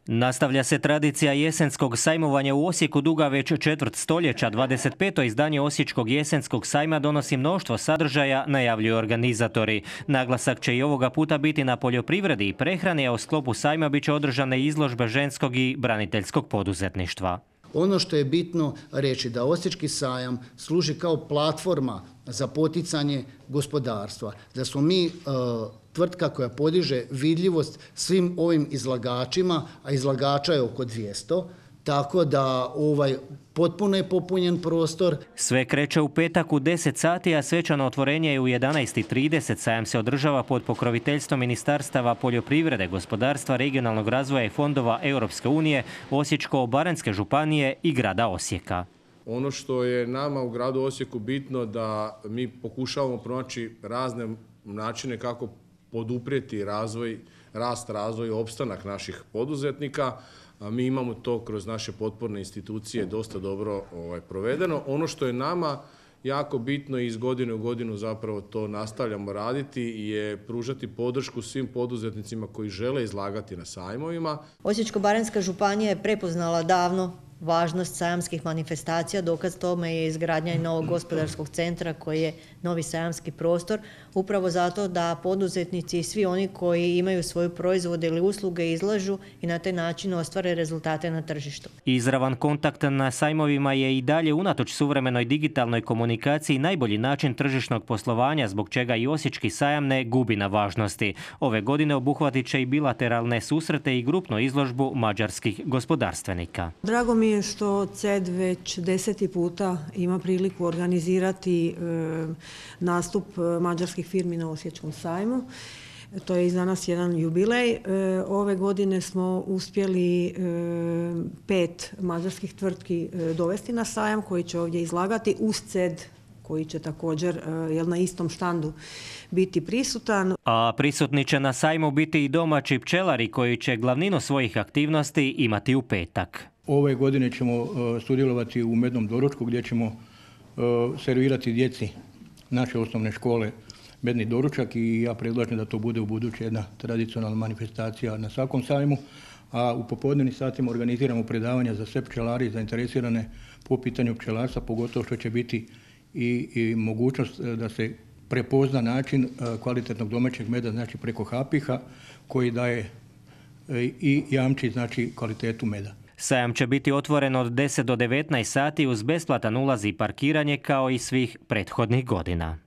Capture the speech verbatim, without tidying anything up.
Nastavlja se tradicija jesenskog sajmovanja u Osijeku duga već četvrt stoljeća. dvadeset peto izdanje Osječkog jesenskog sajma donosi mnoštvo sadržaja, najavljuju organizatori. Naglasak će i ovoga puta biti na poljoprivredi i prehrani, a u sklopu sajma bit će održane izložbe ženskog i braniteljskog poduzetništva. Ono što je bitno reći da Osječki sajam služi kao platforma za poticanje gospodarstva, da smo mi e, tvrtka koja podiže vidljivost svim ovim izlagačima, a izlagača je oko dvjesto, tako da ovaj potpuno je popunjen prostor. Sve kreće u petak u deset sati, a svečano otvorenje je u jedanaest i trideset. Sajam se održava pod pokroviteljstvom Ministarstava poljoprivrede, gospodarstva, regionalnog razvoja i fondova Europske unije, Osječko-baranjske županije i grada Osijeka. Ono što je nama u gradu Osijeku bitno da mi pokušavamo pronaći razne načine kako poduprijeti razvoj, rast, razvoj i opstanak naših poduzetnika. Mi imamo to kroz naše potporne institucije dosta dobro ovaj, provedeno. Ono što je nama jako bitno i iz godine u godinu zapravo to nastavljamo raditi je pružati podršku svim poduzetnicima koji žele izlagati na sajmovima. Osječko-baranjska županija je prepoznala davno važnost sajamskih manifestacija. Dokaz tome je izgradnja i novog gospodarskog centra koji je novi sajamski prostor, upravo zato da poduzetnici i svi oni koji imaju svoju proizvode ili usluge izlažu i na taj način ostvare rezultate na tržištu. Izravan kontakt na sajmovima je i dalje unatoč suvremenoj digitalnoj komunikaciji najbolji način tržišnog poslovanja, zbog čega i Osječki sajam ne gubi na važnosti. Ove godine obuhvatit će i bilateralne susrete i grupnu izložbu mađarskih gospodarstvenika. Drago mi je što C E D već deseti puta ima priliku organizirati e, nastup mađarskih firmi na Osječkom sajmu. To je i za nas jedan jubilej. E, ove godine smo uspjeli e, pet mađarskih tvrtki e, dovesti na sajam koji će ovdje izlagati uz C E D koji će također jel, na istom štandu biti prisutan. A prisutni će na sajmu biti i domaći pčelari koji će glavninu svojih aktivnosti imati u petak. Ove godine ćemo uh, sudjelovati u mednom doručku gdje ćemo uh, servirati djeci naše osnovne škole medni doručak i ja predlažem da to bude u buduće jedna tradicionalna manifestacija na svakom sajmu. A u popodnevnim satima organiziramo predavanja za sve pčelari zainteresirane po pitanju pčelarstva, pogotovo što će biti i, i mogućnost da se prepozna način uh, kvalitetnog domaćeg meda, znači preko hapiha koji daje uh, i jamči znači kvalitetu meda. Sajam će biti otvoren od deset do devetnaest sati uz besplatan ulaz i parkiranje kao i svih prethodnih godina.